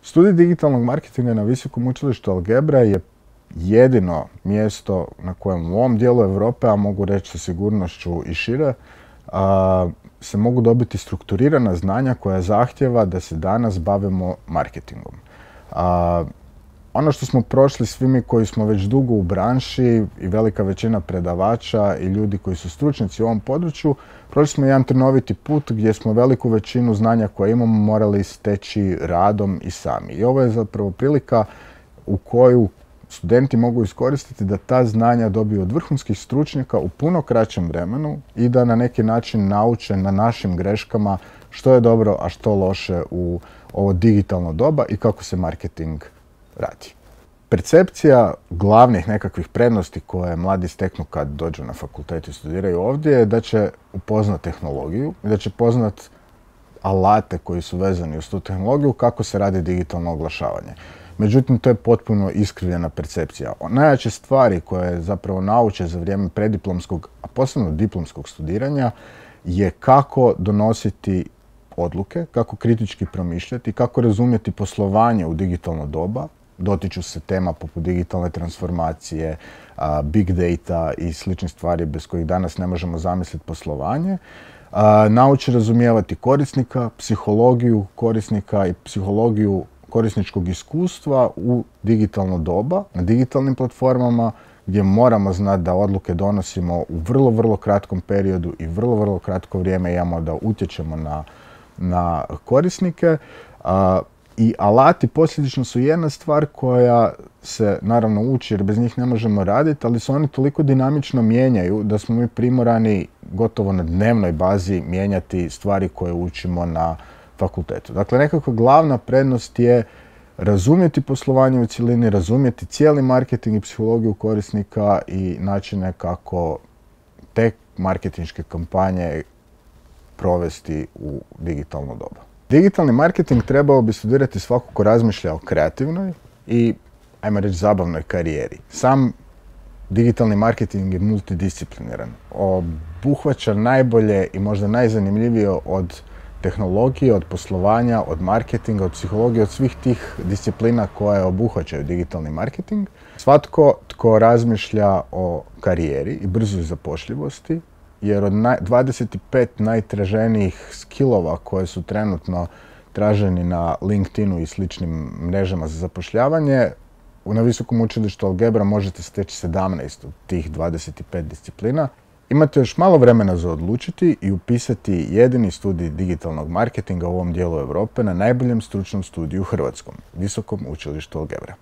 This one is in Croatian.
Studij digitalnog marketinga na Visokom učilištu Algebra je jedino mjesto na kojem u ovom dijelu Europe, a mogu reći sa sigurnošću i šire, se mogu dobiti strukturirana znanja koja zahtjeva da se danas bavimo marketingom. Ono što smo prošli svi mi koji smo već dugo u branši i velika većina predavača i ljudi koji su stručnjaci u ovom području, prošli smo jedan trnoviti put gdje smo veliku većinu znanja koje imamo morali steći radom i sami. I ovo je zapravo prilika u koju studenti mogu iskoristiti da ta znanja dobiju od vrhunskih stručnjaka u puno kraćem vremenu i da na neki način nauče na našim greškama što je dobro, a što loše u ovo digitalno doba i kako se marketing radi. Percepcija glavnih nekakvih prednosti koje mladi steknu kad dođu na fakultet i studiraju ovdje je da će upoznat tehnologiju i da će poznat alate koji su vezani uz tu tehnologiju kako se radi digitalno oglašavanje. Međutim, to je potpuno iskrivljena percepcija. Najjače stvari koje zapravo nauče za vrijeme preddiplomskog, a posebno diplomskog studiranja, je kako donositi odluke, kako kritički promišljati, kako razumjeti poslovanje u digitalno doba. Dotiču se tema poput digitalne transformacije, big data i sličnih stvari bez kojih danas ne možemo zamisliti poslovanje. Nauče razumijevati korisnika, psihologiju korisnika i psihologiju korisničkog iskustva u digitalno doba, na digitalnim platformama gdje moramo znati da odluke donosimo u vrlo kratkom periodu i vrlo kratko vrijeme imamo da utječemo na korisnike. I alati posljedično su jedna stvar koja se naravno uči jer bez njih ne možemo raditi, ali se oni toliko dinamično mijenjaju da smo mi primorani gotovo na dnevnoj bazi mijenjati stvari koje učimo na fakultetu. Dakle, nekakva glavna prednost je razumjeti poslovanje u cjelini, razumjeti cijeli marketing i psihologiju korisnika i načine kako te marketinške kampanje provesti u digitalno doba. Digitalni marketing trebao bi studirati svako ko razmišlja o kreativnoj i, ajmo reći, zabavnoj karijeri. Sam digitalni marketing je multidiscipliniran. Obuhvaća najbolje i možda najzanimljivije od tehnologije, od poslovanja, od marketinga, od psihologije, od svih tih disciplina koje obuhvaćaju digitalni marketing. Svatko tko razmišlja o karijeri i brzoj zapošljivosti, jer od 25 najtraženijih skillova koje su trenutno traženi na LinkedInu i sličnim mrežama za zapošljavanje, na Visokom učilištu Algebra možete steći 17 od tih 25 disciplina. Imate još malo vremena za odlučiti i upisati jedini studij digitalnog marketinga u ovom dijelu Europe na najboljem stručnom studiju u Hrvatskom, Visokom učilištu Algebra.